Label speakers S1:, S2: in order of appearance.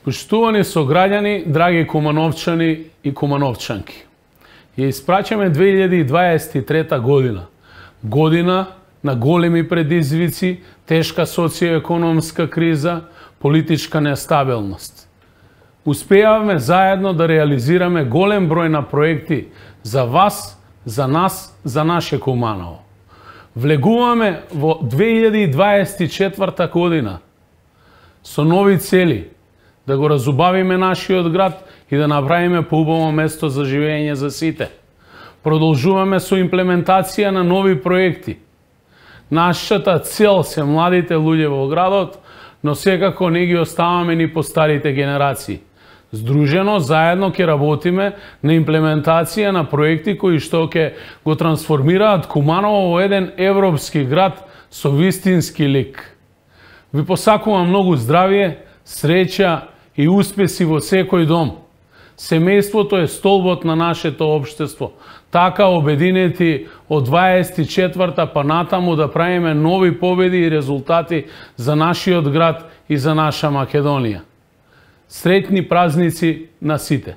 S1: Поштувани сограѓани, драги кумановчани и кумановчанки, ја испраќаме 2023 година. Година на големи предизвици, тешка социоекономска криза, политичка нестабилност. Успеавме заедно да реализираме голем број на проекти за вас, за нас, за наше Куманово. Влегуваме во 2024 година со нови цели, да го разубавиме нашиот град и да направиме поубаво место за живење за сите. Продолжуваме со имплементација на нови проекти. Нашата цел се младите луѓе во градот, но секако не ги оставаме ни по старите генерации. Здружено, заедно ќе работиме на имплементација на проекти кои што ќе го трансформираат Куманово во еден европски град со вистински лик. Ви посакувам многу здравје, среќа и успеси во секој дом. Семејството е столбот на нашето општество. Така обединети од 24-та па натаму да правиме нови победи и резултати за нашиот град и за наша Македонија. Среќни празници на сите!